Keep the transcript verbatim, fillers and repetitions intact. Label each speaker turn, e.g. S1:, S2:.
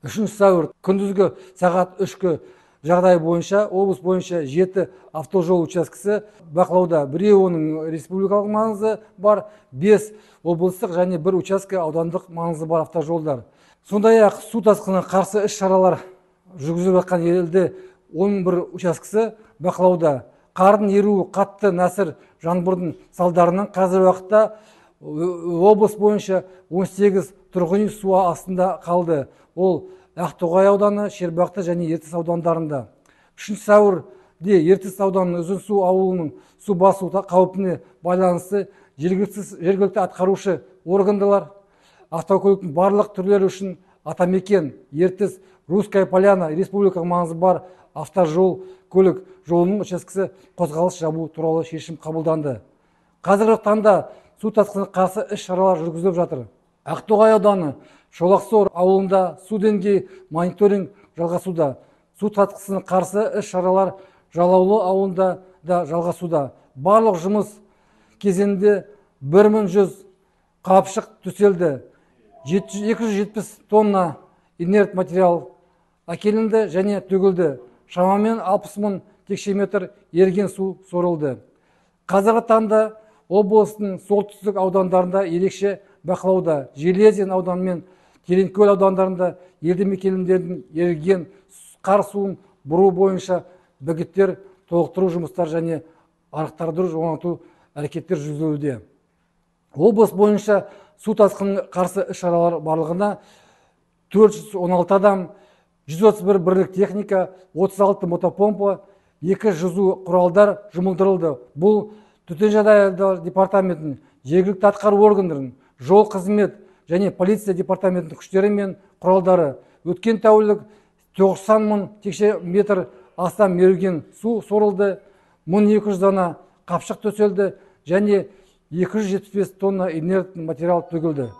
S1: үшінші сәуір күндізгі сағат үшкі жағдай бойынша облыс бойынша жеті автожол учаскесі бақылауда. Біреуі оның республикалық маңызы бар, бес облыстық және бір учаске аудандық маңызы бар автожолдар. Сондай-ақ су тасқынына қарсы іс-шаралар жүргізіліп жатқан елде он бір учаскесі бақылауда. Қардың еруі қатты нәсір жаңбырдың салдарынан қазір уақытта облыс бойынша он сегіз тұрғын үй су астында қалды. Ол Ақтоғай ауданы, Шербақты және Ертіс аудандарында. үшінші сәуірде Ертіс ауданының Ұзынсу ауылының су басу қаупіне байланысты жергілікті атқарушы органдалар автокөліктің барлық түрлері үшін Атамекен, Ертіс, Русская Поляна, республика маңызы бар автожол көлік жолының учаскесі қозғалыс жабу туралы шешім қабылданды. Қазіргі таңда су тасқынына қарсы іс-шаралар жүргізіліп жатыр. Ақтоғай ауданы Шолақсор ауылында су деңгейі мониторинг жалғасуда. Су тасқынына қарсы іс-шаралар Жалаулы ауылында да жалғасуда. Барлық жұмыс кезеңінде бір мың жүз қапшық төселді. екі жүз жетпіс тонна инерт материал әкелінді және төгілді. Шамамен алпыс мың текше метр еріген су сорылды. Қазіргі таңда облыстың солтүстік аудандарында ерекше бақылауда. Железин ауданы мен Тереңкөл аудандарында елді мекендердің еріген қар суын бұру бойынша бөгеттер толықтыру жұмыстар және арықтарды жоғалту әрекеттер жүргізілуде. Облыс бойынша су тасқынына қарсы іс-шаралар барлығына төрт жүз он алты адам, жүз отыз бір бірлік техника, отыз алты мотопомпа, екі жүзу құралдар жұмылдырылды. Бұл төтенше жағдайлар департаментінің, жергілікті атқару органдарының, жол қызмет және полиция департаментінің күштері мен құралдары. Өткен тәулік тоқсан мың текше метр астам еріген су сорылды, мың екі жүз дана қапшық төселді және екі жүз жетпіс бес тонна инерт материал төгілді.